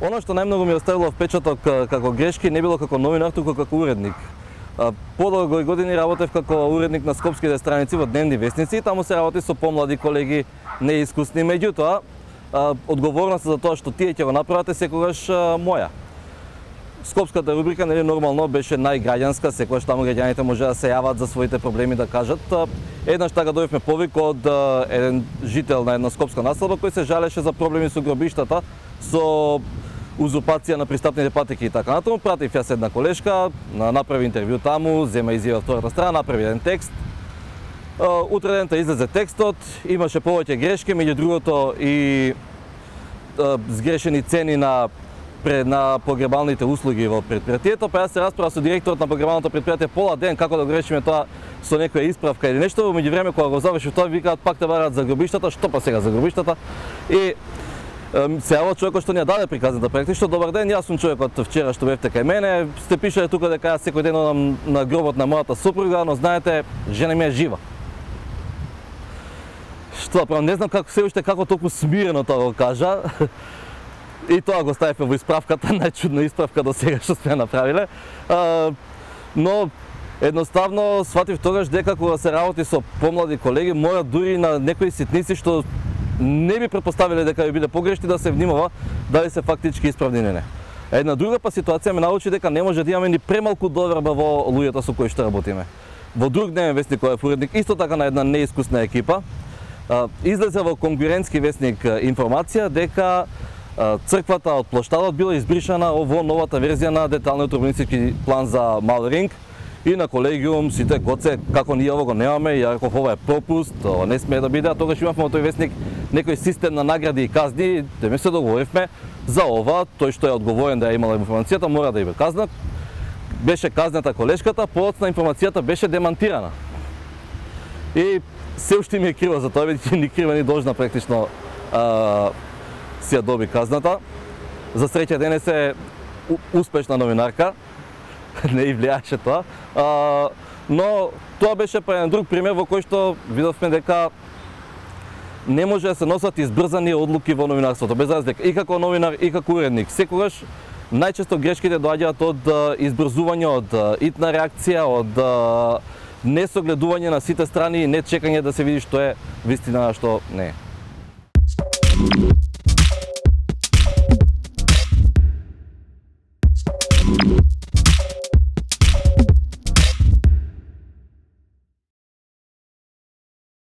Оно што најмногу ми оставило впечаток како грешки не било како новинар, туку како уредник. Подолго години работев како уредник на скопските страници во дневни вестници и таму се работи со помлади колеги, неискусни, меѓутоа одговорноста за тоа што тие ќе го направат е секогаш моја. Скопската рубрика нели нормално беше најграѓанска, секогаш таму граѓаните може да се јават за своите проблеми да кажат. Еднаш така добивме повик од еден жител на една скопска населба кој се жалеше за проблеми со гробиштата, со узурпација на пристапните патеки и така натаму. Пратив јас една колешка, направи интервју таму, зема изјава втората страна, направи еден текст. Утре дента излезе текстот, имаше повеќе грешки, меѓу другото и сгрешени цени на погребалните услуги во претпријатието, па јас се расправа со директорот на погребалното претпријатие пола ден како да го решиме тоа со некоја исправка или нешто. Во меѓувреме кога го завршив тоа, викаат пак те бараат за гробиштата, што па сега за гробиштата? И се јавува човекот што ни ја даде приказната практично: добар ден, јас сум човекот вчера што бевте кај мене, сте пишале тука дека јас секој ден одам на гробот на мојата супруга, но знаете, жена ми е жива. Што, правам, не знам како се уште како толку смирено тоа го кажа. И тоа го ставивме во исправката, најчудна исправка до сега што сме направиле. Но едноставно сватив тогаш дека кога се работи со помлади колеги, мора дури на некои ситници што не би претпоставиле дека би биде погрешни да се внимава дали се фактички исправни или не. Една друга па ситуација ме научи дека не може да имаме ни премалку доверба во луѓето со кои што работиме. Во друг дневен вестник кој е уредник, исто така на една неискусна екипа, излезе во конкурентски вестник информација дека црквата од плоштадот била избришана во новата верзија на деталниот урбанистички план за Мал Ринг. И на колегиум сите гоце како ние ово го немаме, ја реков ова е пропуст, ова не смее да биде, а тогаш имавме во тој вестник некој систем на награди и казни, да ме се договоривме за ова, тој што е одговорен да ја имала информацијата мора да ја казнат. Беше казната колешката, подоцна информацијата беше демантирана. И се уште ми е криво за тоа, бидејќи ни крива ни должна практично си ја доби казната. За среќа денес е успешна новинарка, не и влијаше тоа, но тоа беше па еден друг пример во кој што видовме дека не може да се носат избрзани одлуки во новинарството, без разлика и како новинар и како уредник. Секогаш најчесто грешките доаѓаат од избрзување, од итна реакција, од несогледување на сите страни и не чекање да се види што е вистина, што не е.